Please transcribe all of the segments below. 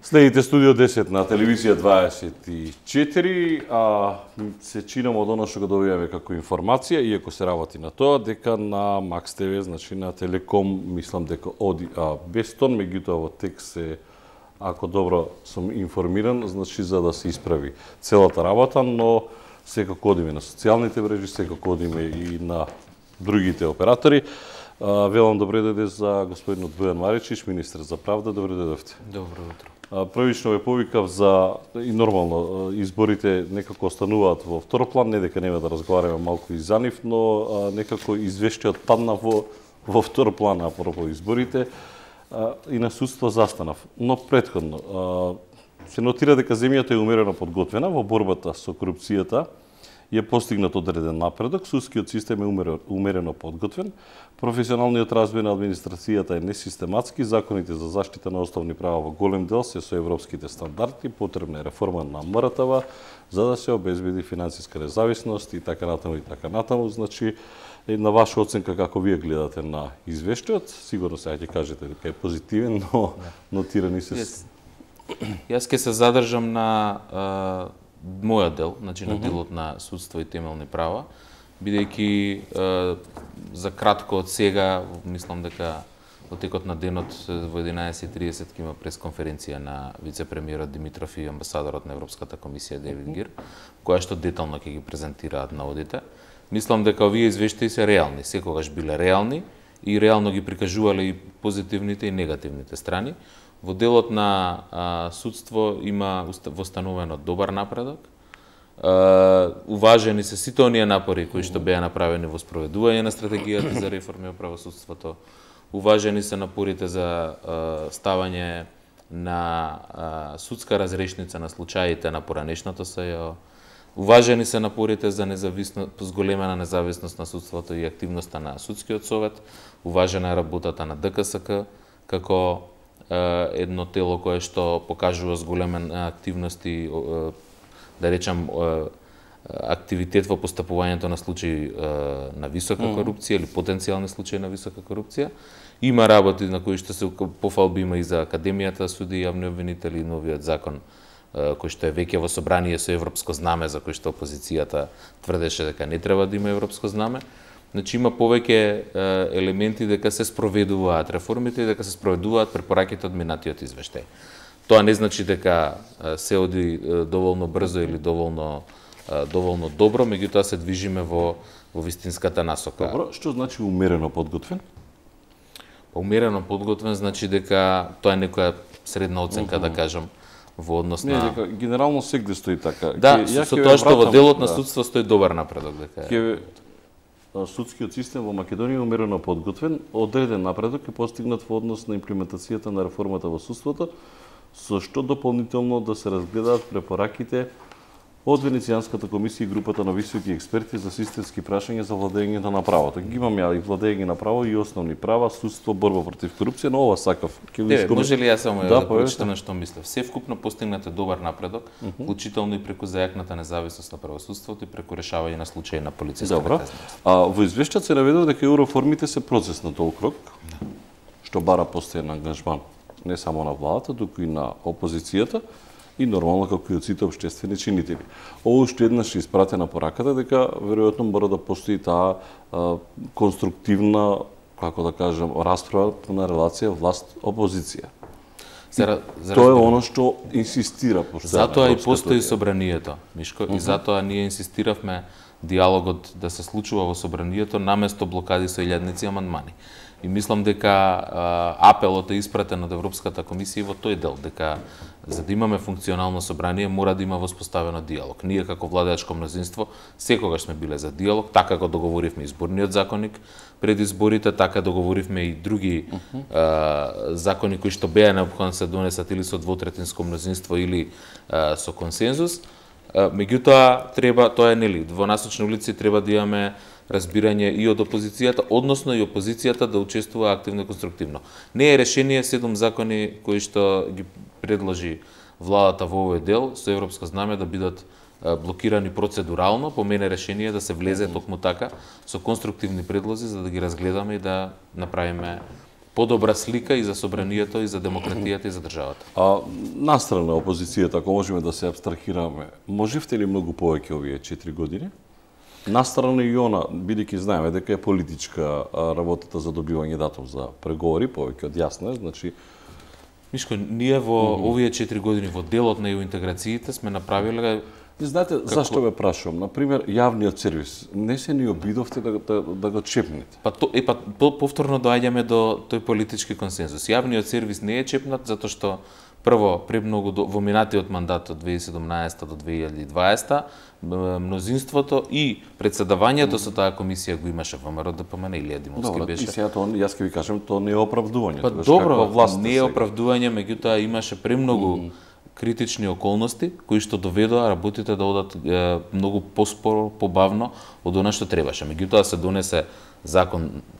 Следите Студио 10 на телевизија 24, се чинам од оно што го добиваме како информација, иако се работи на тоа, дека на Макс ТВ, значи на Телеком, мислам дека оди без тон, меѓутоа во текст се, ако добро сум информиран, значи за да се исправи целата работа, но секако одиме на социјалните мрежи, секако одиме и на другите оператори. Велам добре дојде за господинот Бојан Маричич, министер за правда, добре дојдовте. Добро утро. Првично ве повикав за, и нормално, изборите некако остануваат во втор план, не дека нема да разговараме малку и за нив, но некако извештајот падна во втор план апропо изборите и на судство застанав. Но претходно, се нотира дека земјата е умерено подготвена во борбата со корупцијата, е постигнат одреден напредок, судскиот систем е умерено подготвен, професионалниот развој на администрацијата е несистематски, законите за заштита на основни права во голем дел се со европските стандарди, потребна е реформа на МРТВ за да се обезбеди финансиска независност и така натаму и така натаму. Значи, на ваша оценка како вие гледате на извештајот, сигурно сега ќе кажете дека е позитивен, но нотирани се... Јас ќе се задржам на мојот дел, значи на делот на судство и темелни права, бидејќи за кратко од сега, мислам дека во текот на денот во 11:30 ќе има пресконференција на вице-премиерот Димитров и амбасадорот на Европската комисија Девид Гир, која што детално ќе ги презентираат наодите. Мислам дека овие извештаи се реални, секогаш биле реални и реално ги прикажувале и позитивните и негативните страни. Во делот на судство има востановено добар напредок. Уважени се сите оние напори кои што беа направени во спроведување на стратегијата за реформи во правосудството. Уважени се напорите за ставање на судска разрешница на случаите на поранешното СЈО. Уважени се напорите за зголемена независност на судството и активноста на судскиот совет. Уважена е работата на ДКСК како едно тело кое што покажува зголемена активност и, да речам, активитет во постапувањето на случаи на висока корупција или потенцијални случаи на висока корупција. Има работи на кои што се пофалби има и за Академијата суди и јавни обвинители, новиот закон кој што е веќе во собрание со европско знаме, за кој што опозицијата тврдеше дека не треба да има европско знаме. Значи има повеќе елементи дека се спроведуваат реформите и дека се спроведуваат препораките од минатиот извештај. Тоа не значи дека се оди доволно брзо или доволно добро, меѓутоа се движиме во вистинската насока. Добро, што значи умерено подготвен? Умерено подготвен значи дека тоа е некоја средна оценка, да кажам, во однос на... Не, дека генерално сегде стои така. Да, со тоа што во делот на судство стои добар напредок, дека судскиот систем во Македонија е умерено подготвен, одреден напредок е постигнат во однос на имплементацијата на реформата во судството, со што дополнително да се разгледаат препораките од Венецијанската комисија и групата на високи експерти за системски прашања за владењето на правото. Ги имаме и владење на право и основни права, судство, борба против корупција, но ова сакав. Може ли јас само да прочитам што мислев? Севкупно постигнат е добар напредок, вклучително и преку зајакната независност на правосудството и преку решавање на случаи на полициска наказаност. Во извештајот се наведува дека еврореформите се процес на толк рок, што бара постојан ангажман не само на владата, туку и на опозицијата, и нормално како и од сите општествени чинители. Ово уште еднаш е испратена пораката дека веројатно мора да постои таа конструктивна, како да кажам, расправа на релација власт-опозиција. Тоа е оно што инсистира постојано. Затоа и постои собранието, Мишко, и затоа ние инсистиравме диалогот да се случува во собранието наместо блокади со илјадници амандмани. И мислам дека апелот е испратен од Европската комисија во тој дел, дека за да имаме функционално собрание мора да има воспоставено диалог. Ние како владеачко мнозинство секогаш сме биле за диалог, така го договоривме изборниот законник пред изборите, така договоривме и други закони кои што беа неопходно се донесат или со двотретинско мнозинство или со консензус. Меѓутоа треба, тоа е нели, во насочни улици треба да имаме разбирање и од опозицијата, односно и опозицијата да учествува активно и конструктивно. Не е решение 7 закони кои што ги предложи владата во овој дел со европско знаме да бидат блокирани процедурално, по мене решение да се влезе токму така со конструктивни предлози за да ги разгледаме и да направиме подобра слика и за собранието, и за демократијата, и за државата. Настрана опозицијата, ако можеме да се абстрахираме, можевте ли многу повеќе овие 4 години? Настрана и она, бидејќи знаеме дека е политичка работата за добивање датум за преговори, повеќе од јасно е, значи Мишко, ние во овие 4 години во делот на интеграциите сме направиле. И знаете зашто ве прашувам? Например, јавниот сервис, не се ни обидовте да го чепнете? Повторно доаѓаме до тој политички консензус. Јавниот сервис не е чепнат затоа што прво премногу во минатиот мандат од 2017 до 2020 мнозинството и председавањето со таа комисија го имаше ВМРО ДПМН или Димовски беше. И сега тоа јас ќе ви кажам, тоа не е оправдување. Добро, не е оправдување, меѓутоа имаше премногу критични околности кои што доведоа работите да одат многу поспоро, побавно од она што требаше. Меѓутоа се донесе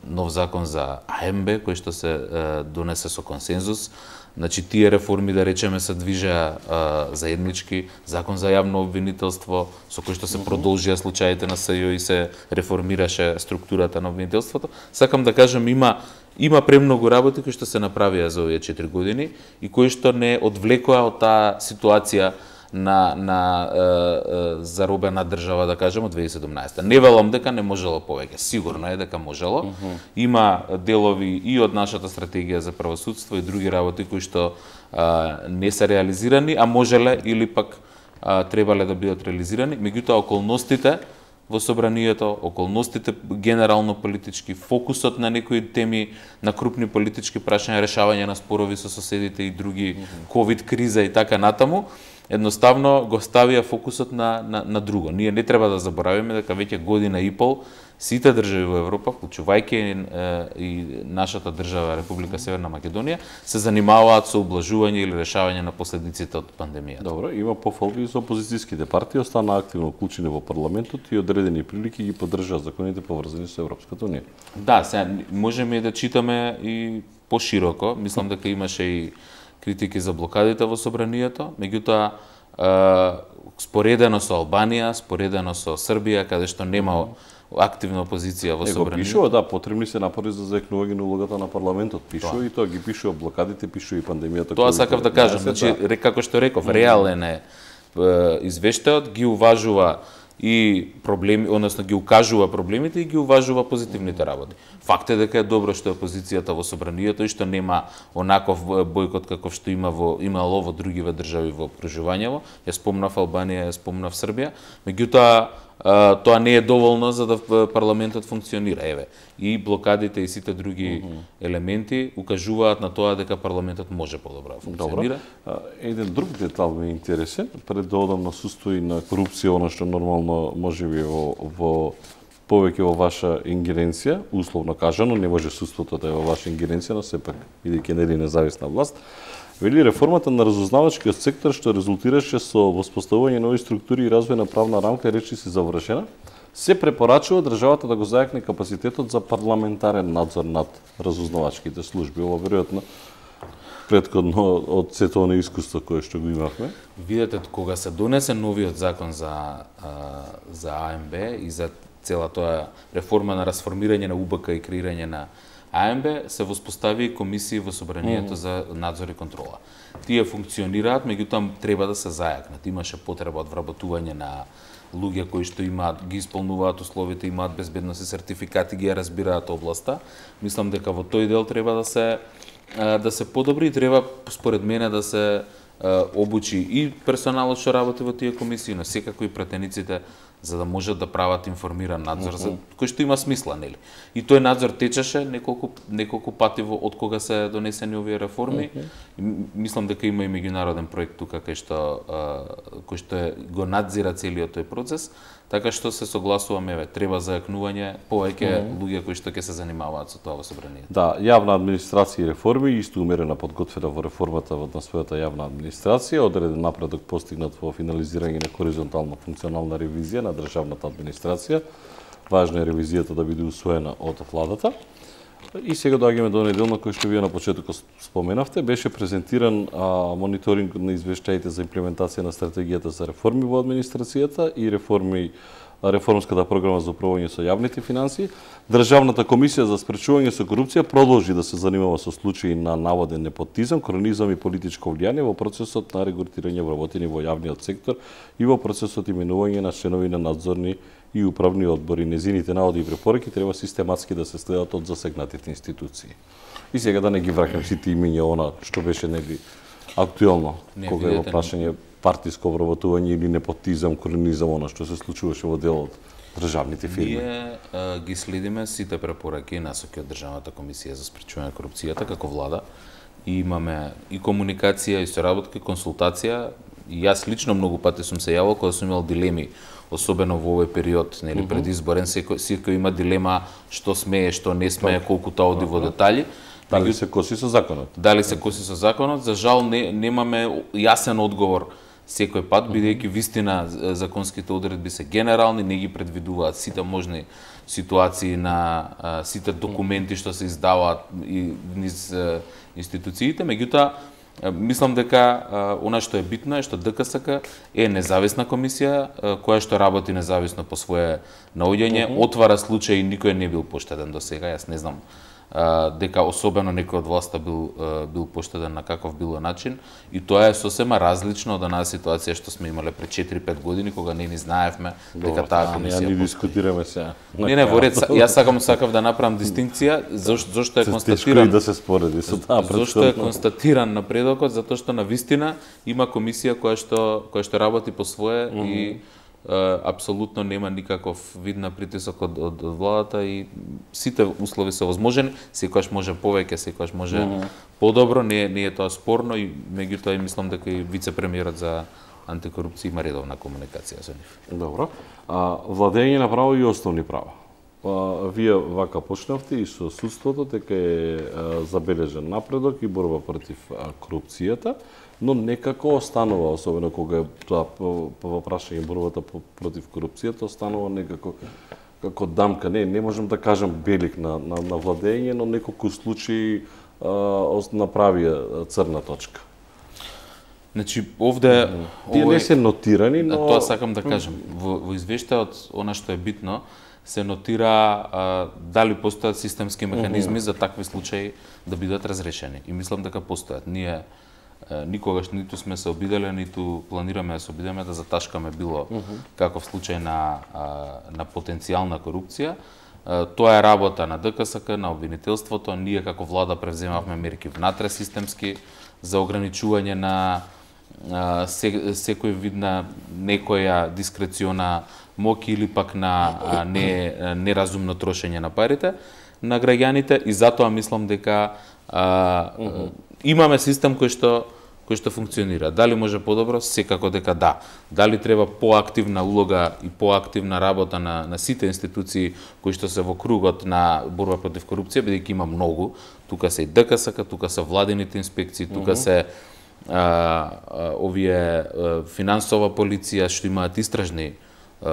нов закон за АМБ кој што се донесе со консензус. Значи тие реформи, да речеме, се движеа заеднички, закон за јавно обвинителство со кој што се продолжија случаите на СЈО и се реформираше структурата на обвинителството. Сакам да кажам, има премногу работи кои што се направија за овие 4 години и кои што не одвлекоа од таа ситуација на заробена држава, да кажем, од 2017. Не велам дека не можело повеќе, сигурно е дека можело. Има делови и од нашата стратегија за правосудство и други работи кои што не се реализирани, а можеле или пак требале да бидат реализирани. Меѓутоа околностите во собранието, околностите генерално политички, фокусот на некои теми, на крупни политички прашања, решавање на спорови со соседите и други, ковид криза и така натаму, едноставно го ставија фокусот на друго. Ние не треба да заборавиме дека веќе година и пол сите држави во Европа, вклучувајќи и нашата држава Република Северна Македонија, се занимаваат со ублажување или решавање на последиците од пандемијата. Добро, има пофалби за опозицијските партии, остана активно вклучени во парламентот и одредени прилики ги поддржаа законите поврзани со Европската унија. Да, сега можеме да читаме и пошироко, мислам дека имаше и критики за блокадите во собранието, меѓутоа споредено со Албанија, споредено со Србија, каде што нема активна опозиција во собранието. Пишува, да, потребни се напори за заекнување на улогата на парламентот. Пишува и тоа ги пишува блокадите, пишува и пандемијата. Тоа сакав да кажам, значи како што реков, реален е извештајот, ги уважува и проблеми, односно ги укажува проблемите и ги уважува позитивните работи. Факт е дека е добро што е опозицијата во собранието и што нема онаков бојкот каков што имало во другиве држави во окружувањето. Ја спомнав Албанија, ја спомнав Србија, меѓутоа тоа не е доволно за да парламентот функционира. Еве, и блокадите и сите други елементи укажуваат на тоа дека парламентот може подобро да функционира. Добро. Еден друг детал ми е интересен, пред да одам на состои на корупција, она што нормално можеби во повеќе во ваша ингеренција, условно кажано, не може судството да е во ваша ингеренција, но сепак бидејќи нели независна власт. Вели реформата на разузнавачкиот сектор што резултираше со воспоставување нови структури и развој на правна рамка речи се завршена, се препорачува државата да го зајакне капацитетот за парламентарен надзор над разузнавачките служби. Ова веројатно претходно од сето на искуство кое што го имавме. Видете, кога се донесе новиот закон за АМБ и за цела тоа реформа на расформирање на УБК и креирање на АМБ, се воспостави комисии во собранието за надзор и контрола. Тие функционираат, меѓутоа треба да се зајакнат. Имаше потреба од вработување на луѓе кои што ги исполнуваат условите, имаат безбедносни сертификати, ги ја разбираат областа. Мислам дека во тој дел треба да се подобри и треба според мене да се обучи и персоналот што работи во тие комисии, но секако и пратениците, за да можат да прават информиран надзор, кој што има смисла, нели? И тој надзор течеше неколку пати од кога се донесени овие реформи. Мислам дека има и меѓународен проект тука кој што го надзира целиот тој процес, така што се согласуваме, треба зајакнување повеќе луѓе кои што ќе се занимаваат со тоа во собранието. Да, јавна администрација и реформи, исто умерена подготвена во реформата на својата јавна администрација, одреден напредок постигнат во финализирање на хоризонтална функционална ревизија на државната администрација. Важна е ревизијата да биде усвоена од владата. И сега доаѓаме до неделно кој што вие на почетокот споменавте, беше презентиран мониторинг на извештаите за имплементација на стратегијата за реформи во администрацијата и реформи реформската програма за управување со јавните финансии. Државната комисија за спречување со корупција продолжи да се занимава со случаи на наводен непотизам, кронизам и политичко влијание во процесот на регрутирање вработени во јавниот сектор и во процесот именување на членови на надзорни и управни одбори. Незините наводи и препораки треба систематски да се следат од засегнатите институции. И сега да не ги враќам сите имиња она што беше нели актуелно, кога е во прашање партиско вработување или непотизам, кронизам, она што се случуваше во делот државните фирми. Ние ги следиме сите препораки и насоки од Државната комисија за спречување на корупцијата како влада. И имаме и комуникација, и соработка, и консултација. И јас лично многу пати сум се јавил кога сум имал дилеми, особено во овој период, нели предизборен, секој има дилема што смее, што не смее, колку тоа оди во детали. Дали се коси со законот? Дали се коси со законот? За жал немаме јасен одговор секој пат, бидејќи вистина законските одредби се генерални, не ги предвидуваат сите можни ситуации на сите документи што се издаваат и низ институциите, меѓутоа мислам дека она што е битно е што ДКСК е независна комисија која што работи независно по свое наоѓање, отвара случаи, никој не бил поштеден до сега, јас не знам дека особено некој од власта бил поштеден на каков било начин, и тоа е сосема различно од онаа ситуација што сме имале пред 4-5 години кога не ни знаевме дека таа комисија не дискутираме сега. Не, во ред, јас сакав да направам дистинкција зошто е констатиран да се спореди со таа зошто е констатиран напредокот, затоа што на вистина има комисија која што работи по свое и апсолутно нема никаков вид на притисок од владата и сите услови се возможни, секогаш може повеќе, секогаш може подобро, не е тоа спорно, и меѓутоа мислам дека и вице-премиерот за антикорупција има редовна комуникација со нив. Добро. Владење на право и основни права. Вие вака почнавте и со судството, дека е забележен напредок и борба против корупцијата, но некако останува, особено кога е тоа во прашање борбата против корупцијата, останува некако како дамка. Не можам да кажам белик на владење, но неколку случаи направија црна точка. Значи, овде тие не се нотирани, но тоа сакам да кажам. Во извештајот, она што е битно, се нотира дали постојат системски механизми за такви случаи да бидат разрешени. И мислам дека постојат. Ние никогаш ниту сме се обиделе, ниту планираме да се обидеме да заташкаме било каков случај на потенцијална корупција. Тоа е работа на ДКСК, на обвинителството. Ние како влада превземавме мерки внатре системски за ограничување на секој вид на некоја дискрециона моќ или пак на неразумно трошење на парите на граѓаните, и затоа мислам дека имаме систем кој што функционира. Дали може подобро? Секако дека да. Дали треба поактивна улога и поактивна работа на сите институции кои што се во кругот на борба против корупција, бидејќи има многу. Тука се и ДКСК, тука се владините инспекции, тука се овие финансова полиција што имаат истражни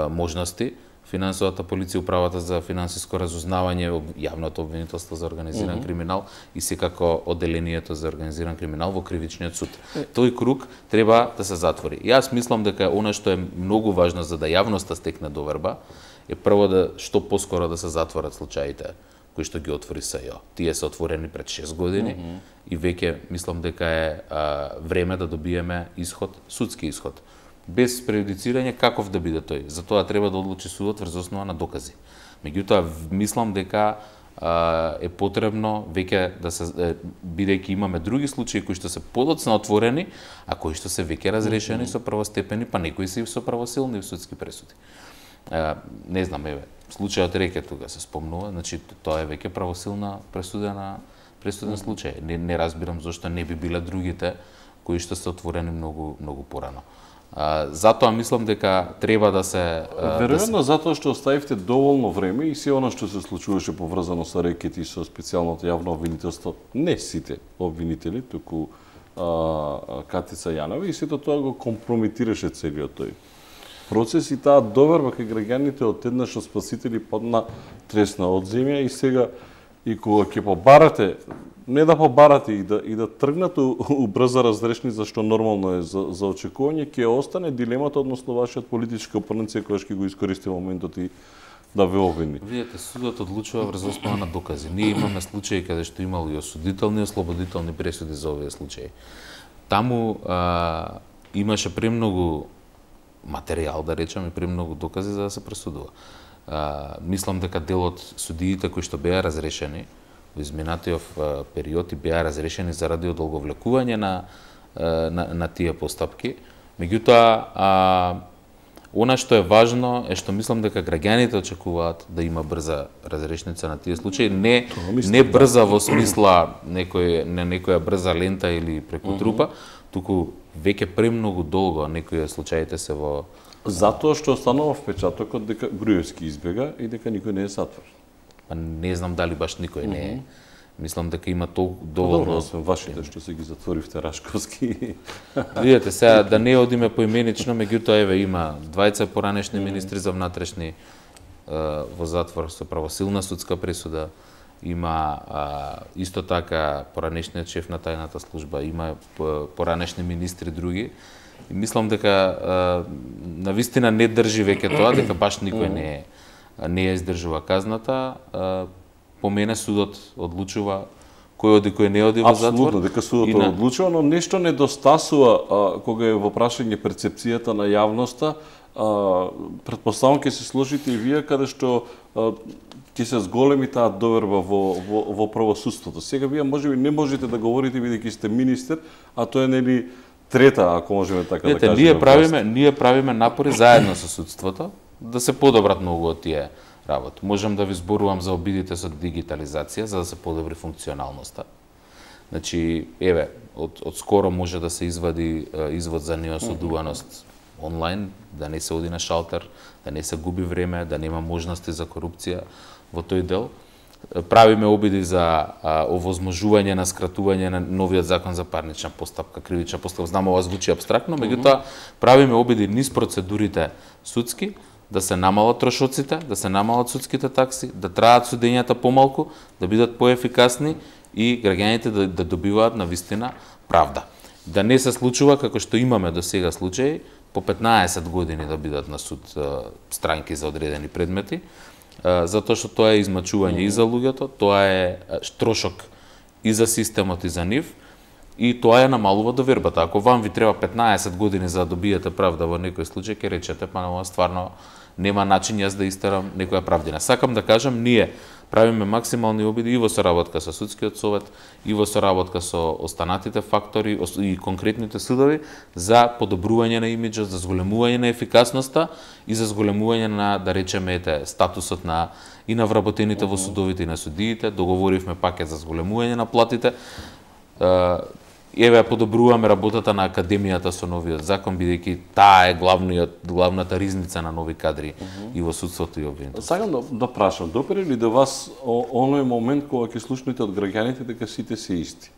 можности, финансовата полиција, управата за финансиско разузнавање, јавното обвинителство за организиран криминал и секако одделението за организиран криминал во кривичниот суд. Тој круг треба да се затвори. Јас мислам дека она што е многу важно за да јавноста стекне доверба е прво да што поскоро да се затворат случаите кои што ги отвори СЈО. Тие се отворени пред 6 години и веќе мислам дека е време да добиеме исход, судски исход. Без преюдицирање каков да биде тој. Затоа треба да одлучи судот врз основа на докази. Меѓутоа мислам дека е потребно веќе да се, бидејќи имаме други случаи кои што се подоцна отворени, а кои што се веќе разрешени со првостепени, па некои се и со правосилни судски пресуди. Не знам, случајот Рекет тука се спомнува, значи тоа е веќе правосилна пресуден случај. Не разбирам зошто не би биле другите кои што се отворени многу порано. Затоа мислам дека треба да се веројатно затоа што оставивте доволно време и се она што се случуваше поврзано со Рекет и со специјалното јавно обвинителство, не сите обвинители, туку Катица Јанова, и сето тоа го компрометираше целиот тој процес и таа доверба кај граѓаните од еднаш спасители падна тресна од земја, и сега и кога ќе побарате не да побарат и да тргнат у брза разрешни, зашто нормално е за очекување, ќе остане дилемата, односно вашиот политички опонент секогаш ќе го искористи моментот и да ве обвини. Видете, судот одлучува врз основа на докази. Ние имаме случаи каде што имало и осудителни и ослободителни пресуди за овие случаи. Таму имаше премногу материјал, да речеме, премногу докази за да се пресудува. Мислам дека дел од судиите кои што беа разрешени во изминатиот период и беа разрешени заради одолговлекување на тие постапки. Меѓутоа, она што е важно е што мислам дека граѓаните очекуваат да има брза разрешница на тие случаи, не брза во смисла некоја брза лента или преку трупа, туку веќе премногу долго некои случаите се во... Затоа што останува впечатокот дека Груевски избега и дека никој не е затвор. Не знам дали баш никој не е. Мислам дека има толку доволно... Освен вашите што се ги затворивте Рашковски. Видете, сега да не одиме поименично, меѓутоа еве има двајца поранешни министри за внатрешни во затвор со правосилна судска пресуда. Има исто така поранешниот шеф на тајната служба, има поранешни министри други. И мислам дека навистина не држи веќе тоа, дека баш никој не ја издржува казната. По мене судот одлучува кој оди, кој не оди во затвор. Апсолутно, дека судот одлучува, но нешто недостасува кога е во прашање перцепцијата на јавноста. Претпоставам ќе се сложите и вие каде што ќе се зголеми таа доверба во правосудството. Сега вие можеби не можете да говорите бидејќи сте министер, а тоа е нели трета, ако можеме така да кажеме. Ние правиме напори заедно со судството да се подобрат многу од тие работи. Можам да ви зборувам за обидите со дигитализација за да се подобри функционалноста. Значи, еве, од скоро може да се извади извод за неосудуваност онлайн, да не се оди на шалтер, да не се губи време, да нема можности за корупција во тој дел. Правиме обиди за овозможување на скратување на новиот закон за парнична постапка, кривична постапка. Знам, ова звучи апстрактно, меѓутоа правиме обиди низ процедурите судски, да се намалат трошоците, да се намалат судските такси, да траат судењата помалку, да бидат поефикасни и граѓаните да добиваат навистина правда. Да не се случува како што имаме до сега случаи, по 15 години да бидат на суд странки за одредени предмети, затоа што тоа е измачување и за луѓето, тоа е трошок и за системот и за нив, и тоа ја намалува довербата. Ако вам ви треба 15 години за да добиете правда во некој случај, ќе речете, па ова стварно нема начин јас да истерам некоја правдина. Сакам да кажам, ние правиме максимални обиди и во соработка со судскиот совет, и во соработка со останатите фактори и конкретните судови за подобрување на имиџот, за зголемување на ефикасноста и за зголемување на, да речеме, статусот и на вработените во судовите и на судиите. Договоривме пакет за зголемување на платите. Еве подобруваме работата на академијата со новиот закон, бидејќи таа е главната ризница на нови кадри и во судството и обвинителството. Сакам да прашам, допре ли до вас оној момент кога ќе слушнете од граѓаните дека сите се исти?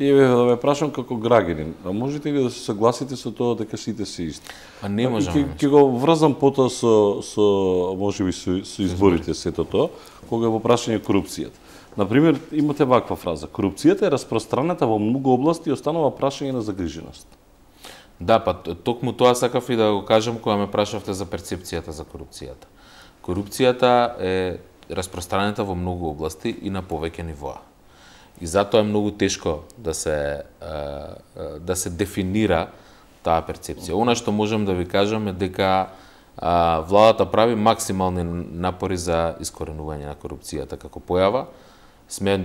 И еве да ве прашам како граѓанин, а можете ли да се согласите со тоа дека сите се исти? Па не можам. Ќе го врзам потоа со можеби со изборите сето тоа, кога е во прашање корупцијата. Например, имате ваква фраза: корупцијата е распространета во многу области и останува прашање на загриженост. Да, па токму тоа сакав и да го кажам кога ме прашавте за перцепцијата за корупцијата. Корупцијата е распространета во многу области и на повеќе нивоа. И затоа е многу тешко да се дефинира таа перцепција. Она што можам да ви кажам е дека владата прави максимални напори за искоренување на корупцијата како појава. Сме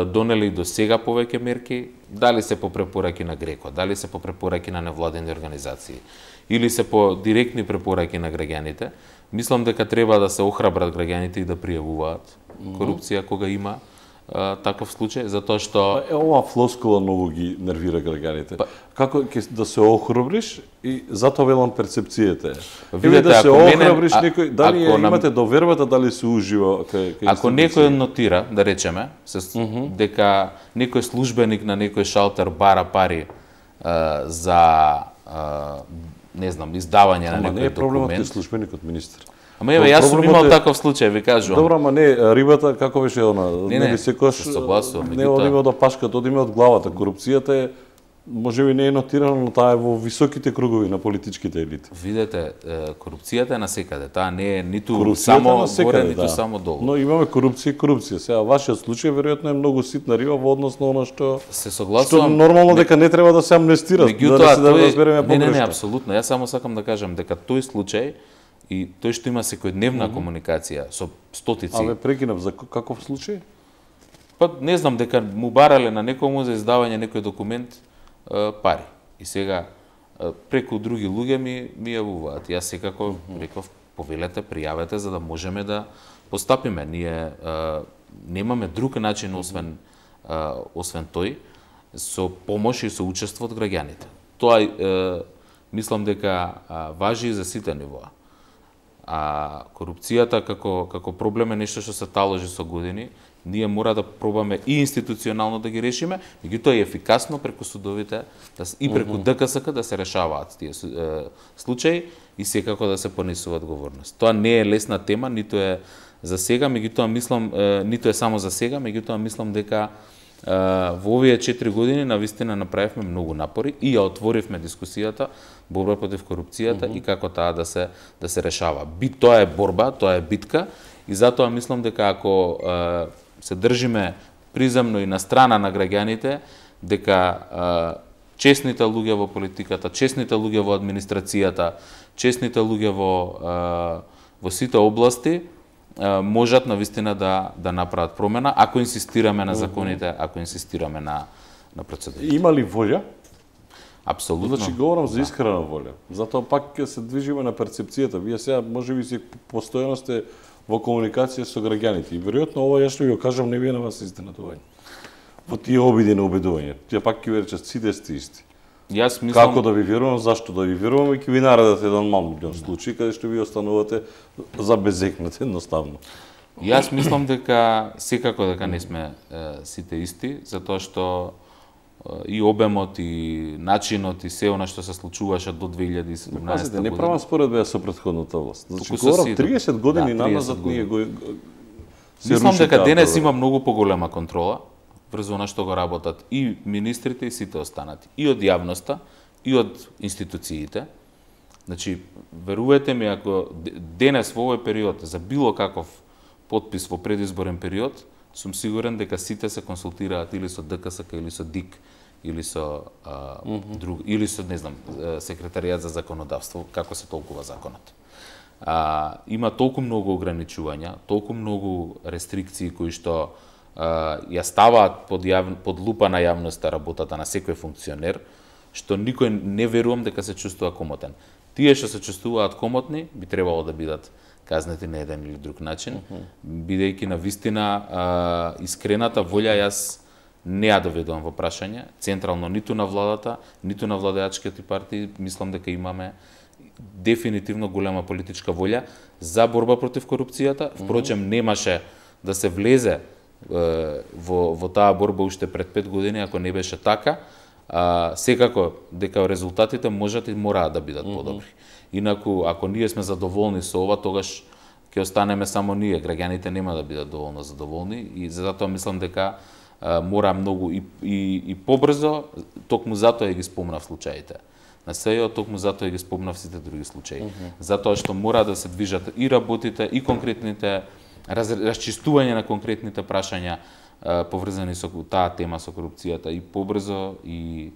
донели до сега повеќе мерки, дали се по препораки на ГРЕКО, дали се по препораки на невладени организации, или се по директни препораки на граѓаните. Мислам дека треба да се охрабрат граѓаните и да пријавуваат корупција кога има таков случај, затоа што... Ова флоскула многу ги нервира граѓаните. Како ќе да се охрабриш и затоа велам перцепцијата е. Видете, да се охрабриш некој, дали имате довербата, дали се ужива кај ако некој нотира, да речеме, дека некој службеник на некој шалтер бара пари за не знам, издавање на некој документ. Не е проблемот кај службеникот, министер. Ама еве, јас сум имал таков случај, ви кажувам. Добро, ама не, рибата, како беше она? Не, секојаш се согласувам. Не одиме од пашката, одиме од главата. Корупцијата е, можеби не е нотирано, но таа е во високите кругови на политичките елити. Видете, корупцијата е насекаде. Таа не е ниту само горе, ниту само долу. Но имаме корупција и корупција. Сега, вашиот случај веројатно е многу ситна риба во однос на она што се согласувам. Што нормално дека не треба да се амнестира, да се разбереме погрешно. Не, апсолутно. Јас само сакам да кажам дека тој случај и тој што има секојдневна комуникација со стотици. Абе, прекинав, за каков случај? Па не знам, дека му барале на некому за издавање некој документ пари. И сега преку други луѓе ми јавуваат. Јас секако реков, повелете, пријавете за да можеме да постапиме. Ние немаме друг начин освен тој, со помош и со учество од граѓаните. Тоа мислам дека важи и за сите нивоа. А корупцијата како проблем е нешто што се таложи со години. Ние мора да пробаме и институционално да ги решиме, меѓутоа и ефикасно преку судовите и преку ДКСК да се решаваат тие случаи и секако да се понесува одговорност. Тоа не е лесна тема, ниту е за сега, меѓутоа мислам ниту е само за сега, меѓутоа мислам дека во овие 4 години навистина направивме многу напори и ја отворивме дискусијата борба против корупцијата и како таа да се решава. Тоа е борба, тоа е битка и затоа мислам дека ако се држиме приземно и на страна на граѓаните, дека честните луѓе во политиката, честните луѓе во администрацијата, честните луѓе во сите области можат навистина да направат промена, ако инсистираме на законите, ако инсистираме на процедурите. Има ли волја? Апсолутно. Значи, говорам за искрена волја. Затоа пак ќе се движиме на перцепцијата. Вие сега можеби си постојано сте во комуникација со граѓаните. И веројатно ова ја што ви го кажам не ви е на вас изненадување. Во тие обиди на убедување. Тие пак ќе ви речат сите сте исти. Јас мислам како да ви верувам, зашто да ви верувам и ќе ви наредат еден мал случај каде што ви останувате забезекнати едноставно. Јас мислам дека секако дека не сме сите исти, затоа што и обемот и начинот и се она што се случуваше до 2017 година. Пазите, не правам споредба со претходната власт. Значи, говорам 30 години назад ние го мислам дека денес има многу поголема контрола врз она што го работат и министрите и сите останати, и од јавноста, и од институциите. Значи, верувате ми, ако денес во овој период за било каков потпис во предизборен период, сум сигурен дека сите се консултираат или со ДКСК, или со ДИК, или со друг, или со, не знам, секретаријат за законодавство, како се толкува законот. Има толку многу ограничувања, толку многу рестрикции кои што ја ставаат под лупа на јавноста работата на секој функционер, што никој не верувам дека се чувствува комотен. Тие што се чувствуваат комотни би требало да бидат казнети на еден или друг начин, бидејќи на вистина искрената волја јас не ја доведувам во прашање, централно ниту на владата, ниту на владеачките партии, мислам дека имаме дефинитивно голема политичка волја за борба против корупцијата. Впрочем, немаше да се влезе во таа борба уште пред 5 години, ако не беше така. Секако дека резултатите можат и мораат да бидат подобри. Инаку, ако ние сме задоволни со ова, тогаш ќе останеме само ние. Граѓаните нема да бидат доволно задоволни и затоа мислам дека мора многу и побрзо, токму затоа ги спомнав случаите. На СЈО, токму затоа ги спомнав сите други случаи. Затоа што мора да се движат и работите, и конкретните расчистување на конкретните прашања поврзани со таа тема со корупцијата и побрзо и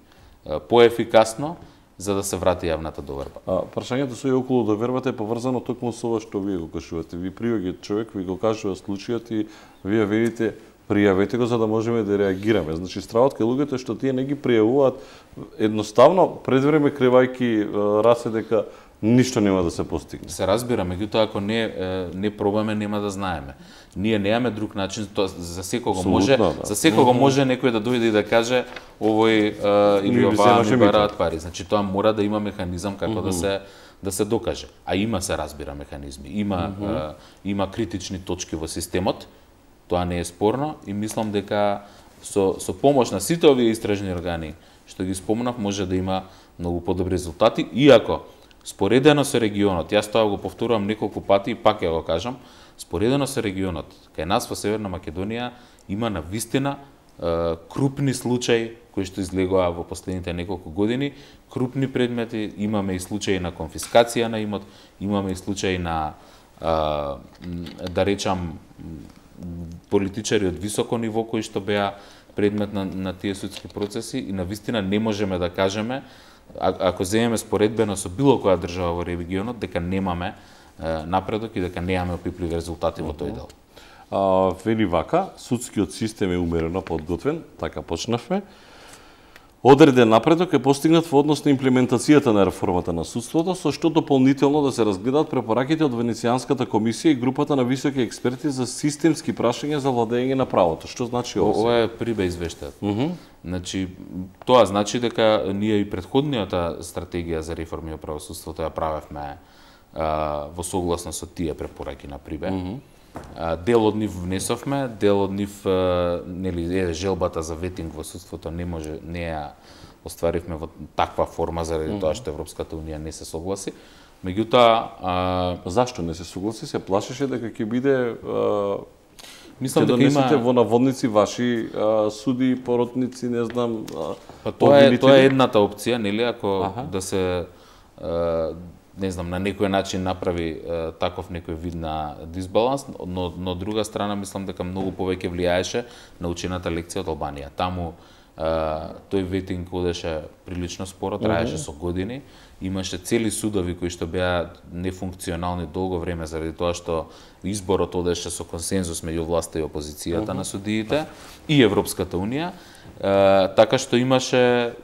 поефикасно за да се врати јавната доверба. Прашањето со и околу довербата е поврзано токму со ова што вие го кажувате. Ви приоѓа човек, ви го кажува случајот и вие видите пријавете го за да можеме да реагираме. Значи стравот кај луѓето што тие не ги пријавуваат едноставно пред време кривајки расе дека ништо нема да се постигне. Се разбира, меѓутоа ако не пробаме нема да знаеме. Ние немаме друг начин, тоа за секого може, за секого може некој да дојде и да каже овој или оваа ми бараат пари. Значи тоа мора да има механизам како да се докаже. А има, се разбира, механизми. Има критични точки во системот. Тоа не е спорно и мислам дека со помош на сите овие истражни органи што ги спомнав може да има многу подобри резултати, иако Споредено со регионот, јас тоа го повторувам неколку пати и пак ја го кажам, споредено со регионот, кај нас во Северна Македонија има навистина крупни случаи кои што излегоа во последните неколку години, крупни предмети, имаме и случаи на конфискација на имот, имаме и случаи на да речам политичари од високо ниво кои што беа предмет на тие судски процеси и навистина не можеме да кажеме, ако земеме споредбено со било која држава во регионот, дека немаме напредок и дека немаме опипливи резултати во тој дел. Вели вака, судскиот систем е умерено подготвен, така почнавме. Одреден напредок е постигнат во однос на имплементацијата на реформата на судството, со што дополнително да се разгледаат препораките од Венецијанската комисија и групата на високи експерти за системски прашања за владење на правото. Што значи ова? Ова е прибе извештаат. Значи, тоа значи дека ние и претходниот стратегија за реформи во правосудството ја правевме во согласно со тие препораки на прибе. Дел од нив внесовме, дел од нив нели желбата за ветинг во судството не ја остваривме во таква форма заради тоа што Европската унија не се согласи. Меѓутоа, зашто не се согласи? Се плашеше дека ќе биде мислам дека има во наводници ваши суди, поротници, не знам, тоа е едната опција, нели, ако да се не знам, на некој начин направи таков некој вид на дисбаланс, но од друга страна мислам дека многу повеќе влијаеше научената лекција од Албанија. Таму тој ветинг одеше прилично споро, траеше со години, имаше цели судови кои што беа нефункционални долго време заради тоа што изборот одеше со консензус меѓу власта и опозицијата на судиите и Европската унија, така што имаше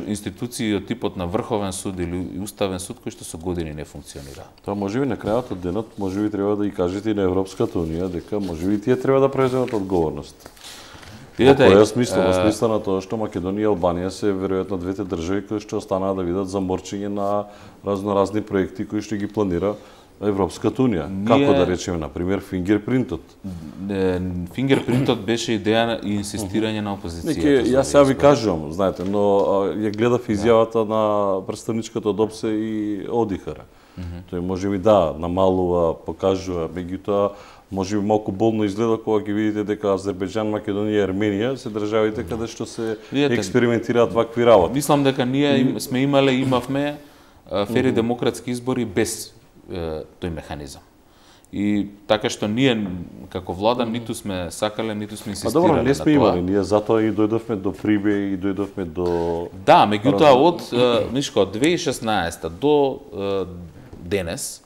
институции од типот на Врховен суд или Уставен суд кои што со години не функционира. Тоа можеби на крајот од денот можеби треба да и кажете и на Европската унија дека можеби тие треба да преземат одговорност. Видете, во смисла на тоа што Македонија и Албанија се веројатно двете држави кои што останаа да видат заморчење на разноразни проекти кои што ги планира Европската унија. Како да речеме, на пример, фингерпринтот. Фингерпринтот беше идеја и инсистирање на опозицијата. Јас сега ви кажувам, знаете, но ја гледав изјавата на претставничката од ОПСЕ и ОДИХР. Тој можеби намалува, покажува, меѓутоа можеби малку болно изгледа кога ги видите дека Азербејџан, Македонија и Арменија се државите каде што се експериментираат вакви работи. Мислам дека ние сме имавме фери демократски избори без тој механизам. И така што ние како влада ниту сме сакале, ниту сме инсистирале на тоа. Добро, не сме имали, ние затоа и дојдовме до прибе и дојдовме до да, меѓутоа од 2016 до денес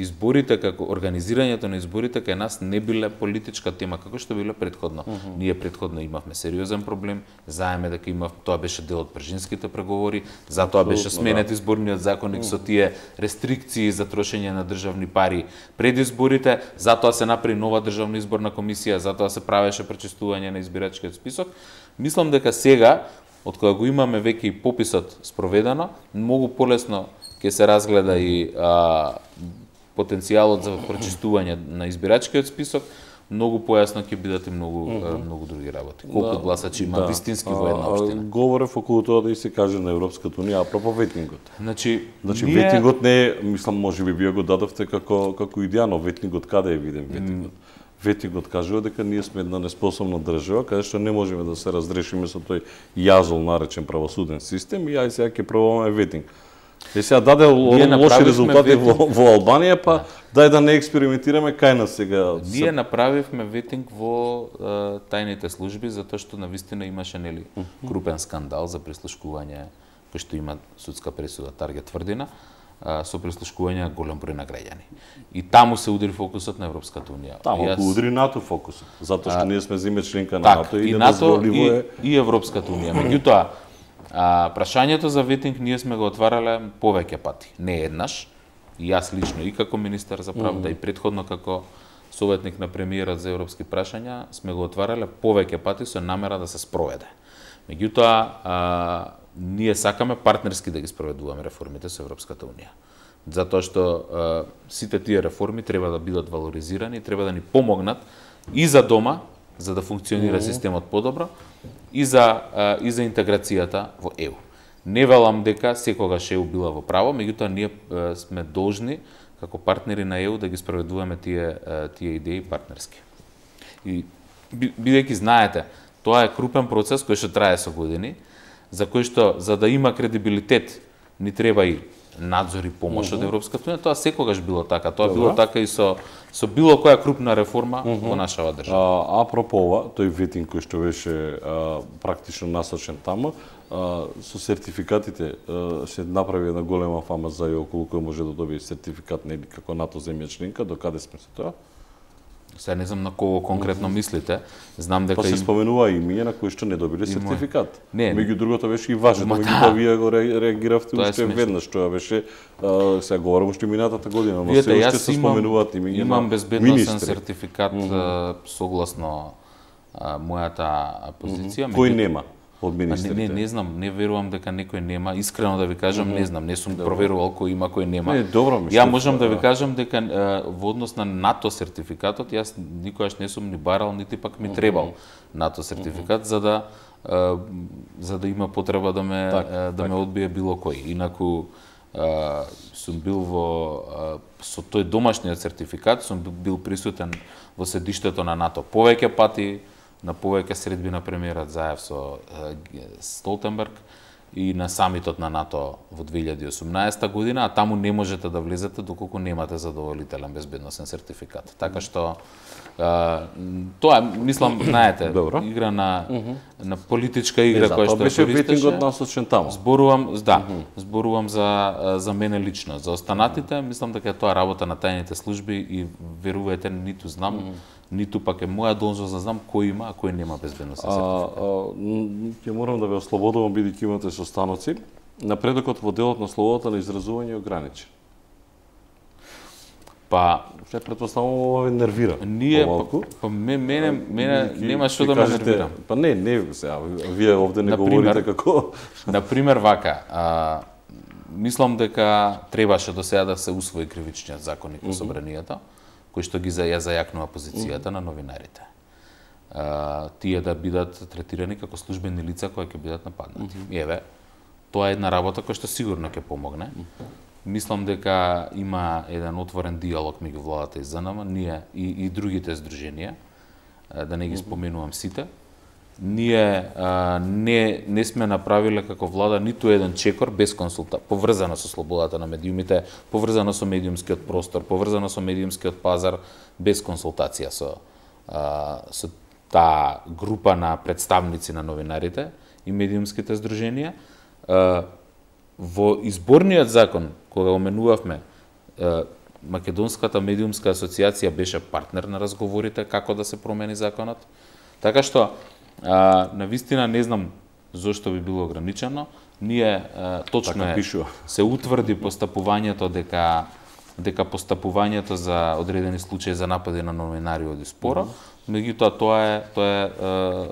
изборите како организирањето на изборите кај нас не биле политичка тема како што биле претходно. Ние претходно имавме сериозен проблем, знаеме дека тоа беше дел од пржинските преговори, затоа беше сменет изборниот законник со тие рестрикции за трошење на државни пари пред изборите, затоа се направи нова државна изборна комисија, затоа се правеше пречистување на избирачкиот список. Мислам дека сега, од кога го имаме веќе и пописот спроведено, многу полесно ќе се разгледа и потенцијалот за прочистување на избирачкиот список, многу појасно ќе бидат и многу други работи. Колку гласачи има вистински во една општина. Говорев околу тоа да и се каже на Европската унија апропо ветингот. Значи ветингот не е, мислам, можеби вие го дадовте како идеја, но ветингот каде е виден ветингот? Ветингот кажува дека ние сме една неспособна држава, каде што не можеме да се разрешиме со тој јазол наречен правосуден систем и ај сега ќе пробаме ветинг. Сега даде лоши резултати во Албанија, па дај да не експериментираме кај нас сега. Ние направивме ветинг во тајните служби затоа што навистина имаше нели крупен скандал за прислушкување кој што има судска пресуда Таргет тврдина со прислушкување на голем број на граѓани. И таму се удари фокусот на Европската унија. Таму удари НАТО фокусот, затоа што ние сме земја членка на НАТО и НАТО и Европската унија. Меѓутоа прашањето за ветинг ние сме го отварале повеќе пати, не еднаш. И јас лично и како министер за правда и претходно како советник на премиерот за европски прашања сме го отварале повеќе пати со намера да се спроведе. Меѓутоа ние сакаме партнерски да ги спроведуваме реформите со Европската унија. Затоа што сите тие реформи треба да бидат валоризирани, треба да ни помогнат и за дома, за да функционира системот подобро, и за интеграцијата во ЕУ. Не велам дека секогаш ЕУ била во право, меѓутоа ние сме должни како партнери на ЕУ да ги спроведуваме тие идеи партнерски. И бидејќи знаете, тоа е крупен процес кој што трае со години, за кој што за да има кредибилитет ни треба и надзор и помош од Европската унија. Тоа секогаш било така. Тоа било така и со било која крупна реформа во нашава држава. Апропо ова, тој ветинг кој што беше практично насочен таму, со сертификатите се направи една голема фама за околу кој може да добие сертификат нели како НАТО земја членка, до каде сме со тоа? Се не знам на кого конкретно мислите. Знам дека се споменува имиња на кои што не добиле сертификат. Меѓу другото беше и важно, меѓутоа вие го реагиравте уште веднаш, тоа беше сега говорам уште минатата година, но се уште се споменуваат имиња. Имам безбедносен сертификат согласно мојата позиција. Кој нема? Од министрите. Не знам, не верувам дека некој нема. Искрено да ви кажам, не знам, не сум проверувал кој има, кој нема. Ја можам да ви кажам дека во однос на НАТО сертификатот, јас никогаш не сум ни барал, нити пак ми требал НАТО сертификат за да има потреба да ме одбие било кој. Инаку сум бил со тој домашниот сертификат, сум бил присутен во седиштето на НАТО повеќе пати, на повеќе средби на премиерот Заев со Столтенберг и на самитот на НАТО во 2018 година, а таму не можете да влезете доколку немате задоволителен безбедносен сертификат. Така што тоа мислам, знаете, игра на политичка игра која што беше ветингот насочен таму. Зборувам за мене лично, за останатите мислам дека тоа работа на тајните служби и верувајте ниту знам, ниту пак е моја должност да знам кој има, а кој нема безбедносен сертификат. Ќе морам да ве ослободувам бидејќи имате состаноци. Напредокот во делот на слободата на изразување е ограничен. Се претпоставувам ова ве нервира. Мене нема што да ме нервира. Не, сега вие овде не говорите како на пример вака, мислам дека требаше до сега да се усвои кривичниот законник во собранието, кој што ги зајакнува позицијата на новинарите. Тие да бидат третирани како службени лица кои ќе бидат нападнати. Еве, тоа е една работа која што сигурно ќе помогне. Мислам дека има еден отворен диалог меѓу владата и ЗНМ, ние и другите здруженија, да не ги споменувам сите. Ние не сме направиле како влада ниту еден чекор без консултација, поврзано со слободата на медиумите, поврзано со медиумскиот простор, поврзано со медиумскиот пазар, без консултација со таа група на представници на новинарите и медиумските здруженија. Во изборниот закон, кога оменувавме, Македонската медиумска асоциација беше партнер на разговорите како да се промени законот. Така што, навистина не знам зошто би било ограничено. Ние точно се утврди постапувањето дека постапувањето за одредени случаи за напади на новинари оди споро. Меѓутоа тоа е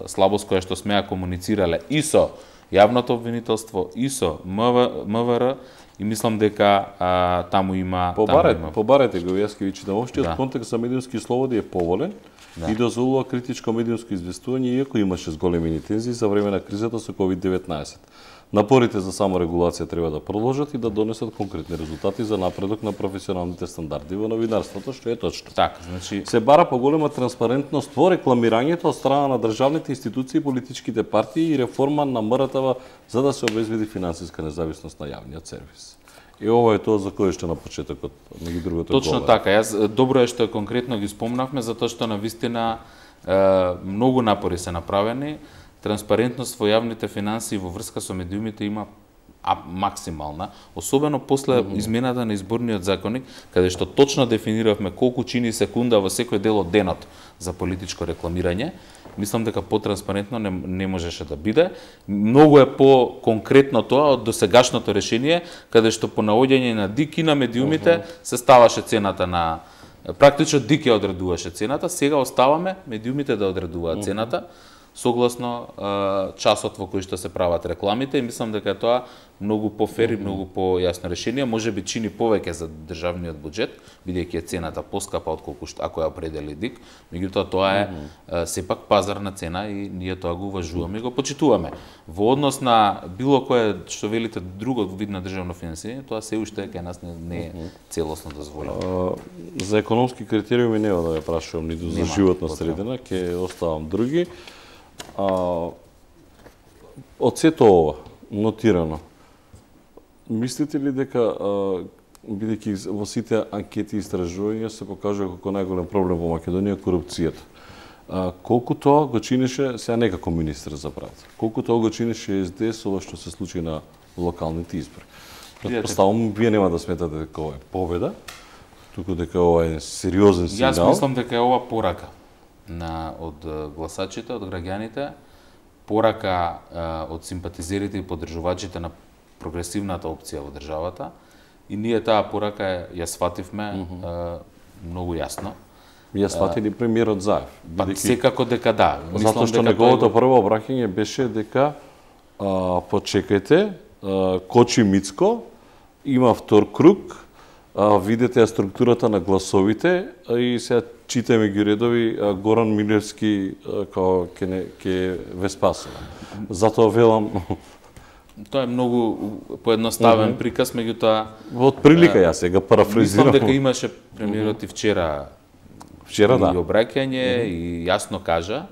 слабост која што сме ја комуницирале и со јавното обвинителство и со МВР и мислам дека таму има побарете го Јаскевичи да општиот контекст за медиумски слободи е поволен и дозволува критичко медиумско известување иако имаше зголемени тензии за време на кризата со COVID-19. Напорите за саморегулација треба да продолжат и да донесат конкретни резултати за напредок на професионалните стандарди во новинарството, што е точно. Така, значи се бара поголема транспарентност во рекламирањето од страна на државните институции и политичките партии и реформа на МРТВ за да се обезбеди финансиска независност на јавниот сервис. И ова е тоа за кое што на почетокот, меѓу другото. Точно така, јас добро е што конкретно ги спомнавме затоа што навистина многу напори се направени. Транспарентност во јавните финансии во врска со медиумите има максимална, особено после измената на изборниот законник, каде што точно дефиниравме колку чини секунда во секој дел од денот за политичко рекламирање. Мислам дека потранспарентно не можеше да биде. Многу е по-конкретно тоа од досегашното решение, каде што по наоѓање на ДИК и на медиумите се ставаше цената на практично ДИК ја одредуваше цената, сега оставаме медиумите да одредуваат цената. согласно часот во кој што се прават рекламите и мислам дека тоа многу пофер и многу појасно решение, можеби чини повеќе за државниот буџет, бидејќи е цената поскапа отколку што ако ја определи ДИК, меѓутоа тоа е сепак пазарна цена и ние тоа го уважуваме и го почитуваме. Во однос на било кое што велите друго вид на државно финансирање, тоа се уште кај нас не е целосно дозволено. За економски критериуми нема да ве прашувам ниту за животна средина, ќе оставам други. Од сето ова нотирано, мислите ли дека бидејќи во сите анкети и истражувања се покажува како најголем проблем во Македонија корупцијата? Колку тоа го чинеше, сега не како министер за правда, колку тоа го чинеше СДС ова што се случи на локалните избори? Претпоставувам, вие нема да сметате дека ова е победа, туку дека ова е сериозен сигнал. Јас мислам дека е ова порака од гласачите, од граѓаните, порака од симпатизерите и поддржувачите на прогресивната опција во државата и ние таа порака ја свативме многу јасно. Ја сватили премиерот Заев. Па секако дека да. Затоа што неговото прво обраќање беше дека почекајте, Кочи Мицко има втор круг, видете ја структурата на гласовите и сега читаме ги редови, Горан Милевски као ке ве спасува. Затоа велам тоа е многу поедноставен приказ, меѓутоа од прилика ја сега парафразирам. Мислам дека имаше премиерот и вчера и обраќање и јасно кажа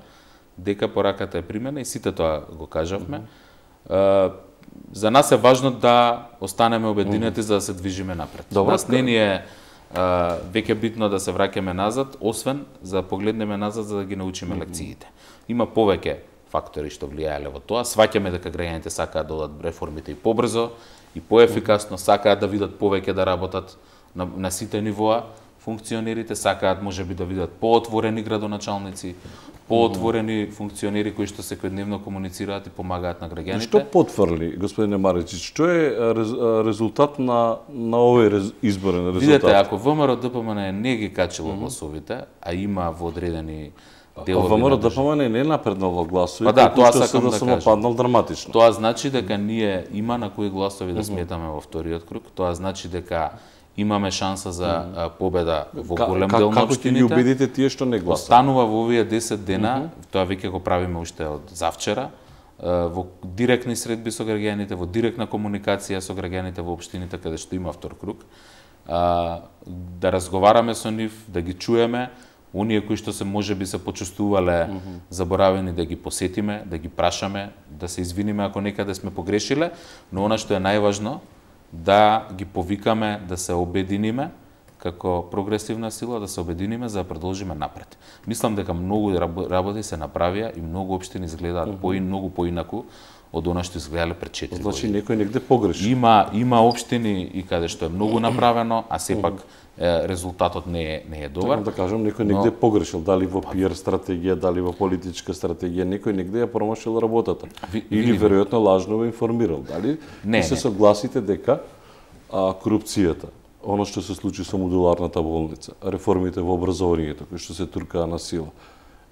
дека пораката е примена и сите тоа го кажавме. За нас е важно да останеме обединети за да се движиме напред. Нас не ни е веќе битно да се враќаме назад, освен за да погледнеме назад за да ги научиме лекциите. Има повеќе фактори што влијаеле во тоа. Сваќаме дека граѓаните сакаат да одат реформите и побрзо и поефикасно, сакаат да видат повеќе да работат на сите нивоа. Функционерите сакаат можеби да видат поотворени градоначалници, поотворени функционери кои што секојдневно комуницираат и помагаат на граѓаните. Што потврли, господине Маричич, што е резултат на овој изборен резултат? Видете, ако ВМРО ДПМН не ги качило гласовите, а има во одредени делови ВМРО ДПМН не напреднало гласови, па да, тоа сакам да кажам. Паднал драматично. Тоа значи дека ние има на кои гласови да сметаме во вториот круг, тоа значи дека имаме шанса за победа во голем дел на општините. Како ќе ги убедите тие што не гласат? Останува во овие 10 дена, тоа веќе го правиме уште од завчера, во директни средби со граѓаните, во директна комуникација со граѓаните во општините каде што има втор круг, да разговараме со нив, да ги чуеме, оние кои што се можеби се почувствувале заборавени да ги посетиме, да ги прашаме, да се извиниме ако некаде сме погрешиле, но она што е најважно да ги повикаме да се обединиме како прогресивна сила, да се обединиме за да продолжиме напред. Мислам дека многу работи се направија и многу општини изгледаат многу поинаку од она што изгледале пред 4 години. Значи некој негде погреши. Има општини и каде што е многу направено, а сепак резултатот не е добар. Да кажам, некој негде погрешил, дали во пиар стратегија, дали во политичка стратегија, некој негде ја промашил работата. Или веројатно лажно го информирал, дали? Не се согласите дека корупцијата, оно што се случи со модуларната болница, реформите во образованието, кои што се туркаа на сила,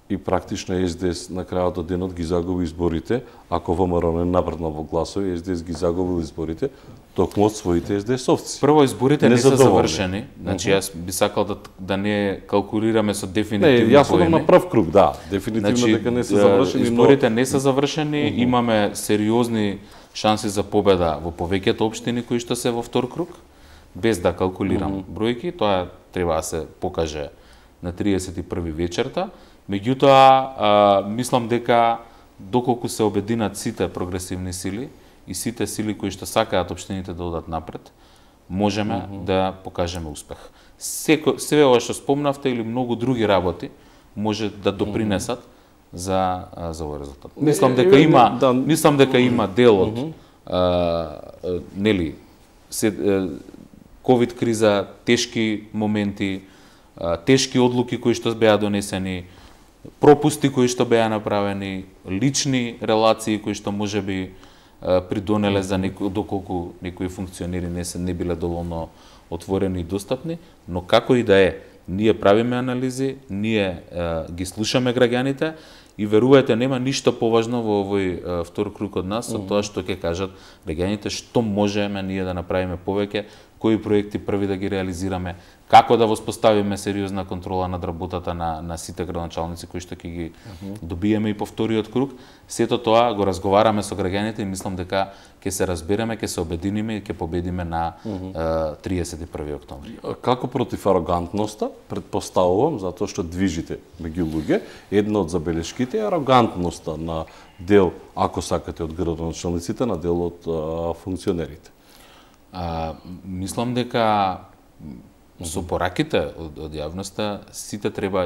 и практично СДС на крајот од денот ги загуби изборите, ако ВМРО не напреднал во гласови, СДС ги загубил изборите, токму од своите СДС-овци. Прво, изборите не се завршени, значи јас би сакал да не калкулираме со дефинитивни поени. Јас одам на прв круг, да, дефинитивно дека не се завршени, изборите не се завршени, имаме сериозни шанси за победа во повеќето општини кои што се во втор круг, без да калкулирам бројки, тоа треба да се покаже на 31 вечерта. Меѓутоа, мислам дека доколку се обединат сите прогресивни сили и сите сили кои што сакаат општините да одат напред, можеме да покажеме успех. Се ова што спомнавте или многу други работи може да допринесат за овој резултат. Мислам дека има дел од нели ковид криза, тешки моменти, тешки одлуки кои што беа донесени, пропусти кои што беа направени, лични релации кои што можеби придонеле за доколку некои функционери не биле доволно отворени и достапни, но како и да е, ние правиме анализи, ние ги слушаме граѓаните И верувајте, нема ништо поважно во овој втор круг од нас, од тоа што ќе кажат граѓаните што можеме ние да направиме повеќе, кои проекти први да ги реализираме, како да воспоставиме сериозна контрола над работата на сите градоначалници кои што ќе ги добиеме и по вториот круг. Сето тоа го разговараме со граѓаните и мислам дека ќе се разбереме, ќе се обединиме и ќе победиме на 31 октомври. Како против арогантноста, предпоставувам, затоа што движите меѓу луѓе, една од забелешките е арогантноста на дел, ако сакате, од градоначалниците, на дел од функционерите. Мислам дека со пораките од јавноста сите треба,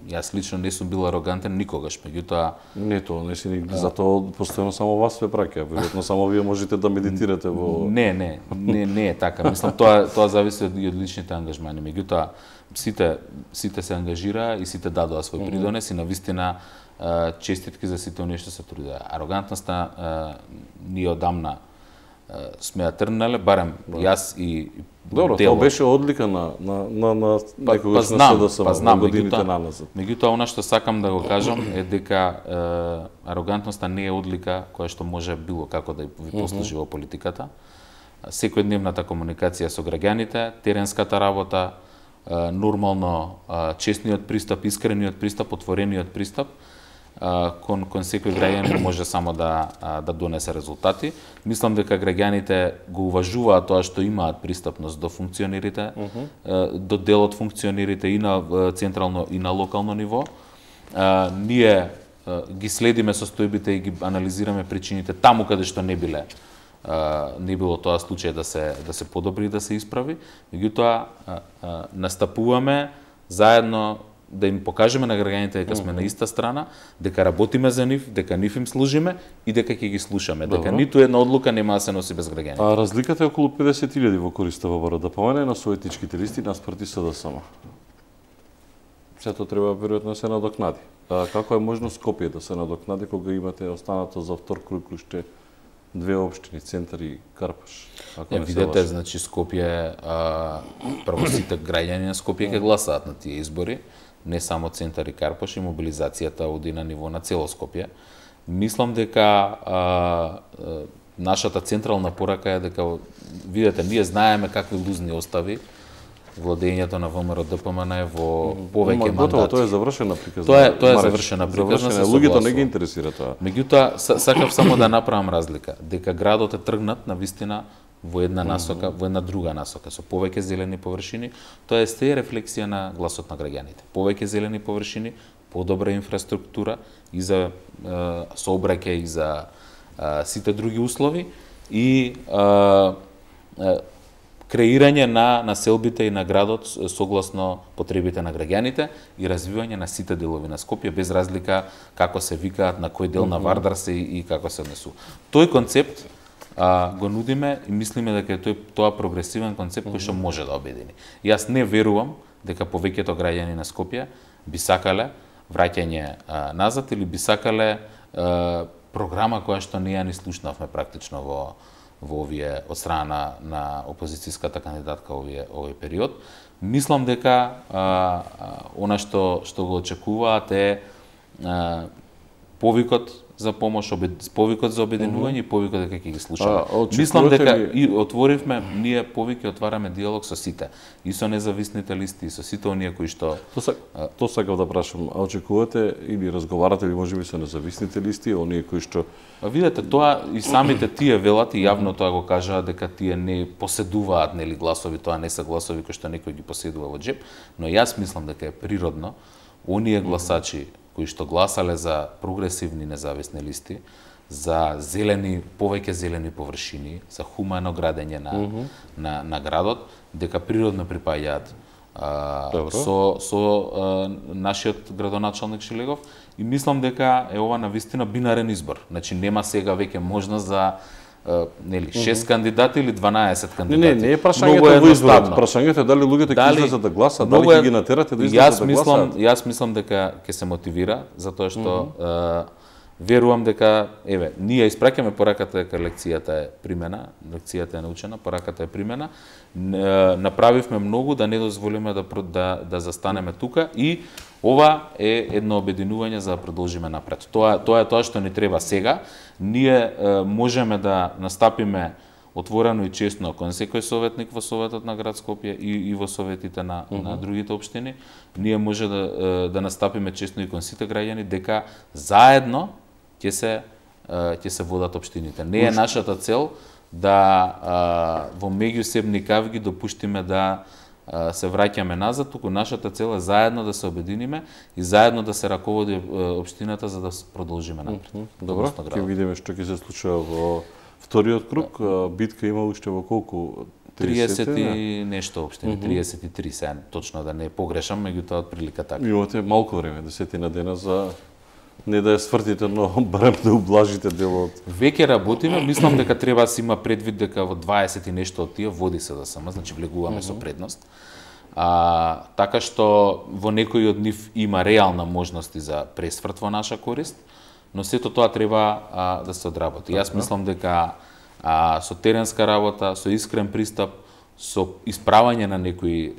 јас лично не сум бил арогантен никогаш, меѓутоа не тоа, не си затоа постојано само вас ве праќа, веројатно само вие можете да медитирате во Не е така. Мислам тоа зависи од личните ангажмани, меѓутоа сите се ангажира и сите дадоа свој придонес и навистина честитки за сите оние што се трудеа. Арогантноста ние одамна сме ја тргнале, барем јас и Добро, тоа беше одлика на некогаш на СДСМ во годините наназад. Меѓутоа, она што сакам да го кажам е дека арогантноста не е одлика која што може било како да ви послужи во политиката. Секојдневната комуникација со граѓаните, теренската работа, нормално честниот пристап, искрениот пристап, отворениот пристап кон секој граѓанин може само да донесе резултати. Мислам дека граѓаните го уважуваат тоа што имаат пристапност до функционерите, до дел од функционерите и на централно и на локално ниво. Ние ги следиме состојбите и ги анализираме причините таму каде што не било тоа случај да се подобри и да се исправи. Меѓутоа настапуваме заедно да им покажеме на граѓаните дека сме на иста страна, дека работиме за нив, дека нив им служиме и дека ќе ги слушаме, дека ниту една одлука нема да се носи без граѓаните. Разликата е околу 50.000 во корист ВВР, да помене на советничките листи наспроти СДСМ. Сето треба веројатно да се надокнади. Како е можно Скопје да се надокнади кога имате останато за втор круг уште две општини, Центар и Карпаш? Видете, значи Скопје, прво сите граѓани на Скопје ќе гласаат на тие избори, не само Центар и Карпаш, и мобилизацијата оди на ниво на цело Скопје. Мислам дека нашата централна порака е дека, видете, ние знаеме какви лузни остави владењето на ВМРО ДПМН е во повеќе мандати. Тоа е завршена приказна. Тоа е завршена приказна. Луѓето не ги интересира тоа. Меѓутоа, сакав само да направам разлика, дека градот е тргнат на вистина во една насока, во една друга насока, со повеќе зелени површини. Тоа е сте рефлексија на гласот на граѓаните. Повеќе зелени површини, подобра инфраструктура и за сообраќај и за сите други услови и креирање на населбите и на градот согласно потребите на граѓаните и развивање на сите делови на Скопје без разлика како се викаат, на кој дел на Вардар се и како се однесува. Тој концепт го нудиме и мислиме дека е тоа прогресивен концепт кој што може да обедини. Јас не верувам дека повеќето граѓани на Скопје би сакале враќање назад или би сакале програма која што ние ни слушнавме практично во овие од страна на опозицијската кандидатка овој период. Мислам дека она што го очекуваат е повикот за помош, повикот за обединување и повикот дека ќе ги слушаме. Мислам дека и отворивме, ние повеќе отвараме диалог со сите, и со независните листи, и со сите оние кои што... Тоа сакав да прашам, а очекувате или разговарате или можеби со независните листи, оние кои што... Видете, тоа и самите тие велат и јавно тоа го кажаа дека тие не поседуваат нели гласови, тоа не се гласови кои што некој ги поседува во џеп, но јас мислам дека е природно оние гласачи кои што гласале за прогресивни независни листи, за зелени, повеќе зелени површини, за хумано градење на градот, дека природно припаѓаат со нашиот градоначалник Шилегов и мислам дека е ова навистина бинарен избор. Значи нема сега веќе можност за 6 кандидати или 12 кандидати. Не е прашањето во изборот. Прашањето е дали луѓето ќе излезат да гласат, дали ќе ги натерате да излезат да гласат. Јас мислам дека ќе се мотивира, затоа што верувам дека, ние испраќаме пораката дека лекцијата е примена, лекцијата е научена, пораката е примена. Направивме многу да не дозволиме да застанеме тука и Ова е едно обединување за да продолжиме напред. Тоа е тоа што ни треба сега. Ние можеме да настапиме отворено и честно кон секој советник во Советот на град Скопје и во советите на другите општини. Ние може да настапиме честно и кон сите граѓани дека заедно ќе се водат општините. Не е нашата цел да во меѓусебни кавги допуштиме да се враќаме назад, туку нашата цел е заедно да се обединиме и заедно да се раководи општината за да продолжиме напред. Добро, ќе видиме што ќе се случува во вториот круг. Битка има уште во колку? 30 и нешто општини, 33 се, точно да не погрешам, меѓутоа отприлика така. Имате малку време, 10 дена за не да ја свртите, но барем да ублажите делот. Веќе работиме, мислам дека треба да се има предвид дека во 20 и нешто од тие води се СДСМ, значи влегуваме со предност. Така што во некои од нив има реална можности за пресврт во наша корист, но сето тоа треба да се одработи. Јас мислам дека со теренска работа, со искрен пристап, со исправање на некои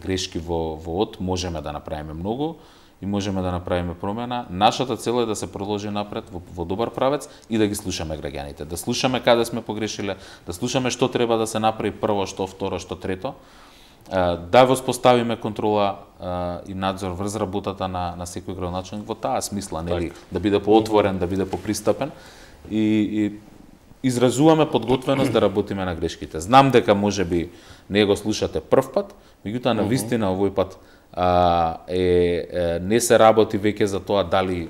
грешки во од можеме да направиме многу и можеме да направиме промена. Нашата цел е да се продолжи напред во добар правец и да ги слушаме граѓаните, да слушаме каде сме погрешиле, да слушаме што треба да се направи прво, што второ, што трето, да воспоставиме контрола и надзор врз работата на секој градоначалник во таа смисла, нели, да биде поотворен, да биде попристапен и изразуваме подготвеност да работиме на грешките. Знам дека можеби не го слушате прв пат, меѓутоа на вистина овој пат не се работи веќе за тоа дали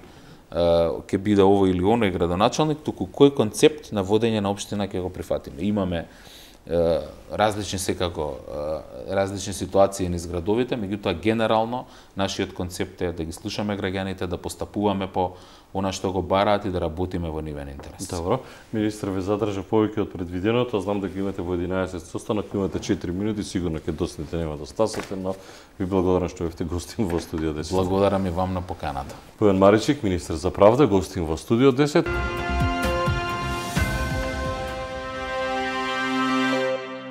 ќе биде овој или оној градоначалник, туку кој концепт на водење на општина ќе го прифатиме. Имаме различни ситуации низ градовите, меѓутоа генерално нашиот концепт е да ги слушаме граѓаните, да постапуваме по она што го бараат и да работиме во нивен интерес. Добро. Министр ве задржа повеќе од предвиденото, знам дека имате во 11 состанок, имате 4 минути, сигурно ќе доснете, нема да стасате, но ви благодарам што бевте гостин во студио 10. Благодарам и вам на поканата. Појан Маричик, министр за правда, гостин во студио 10.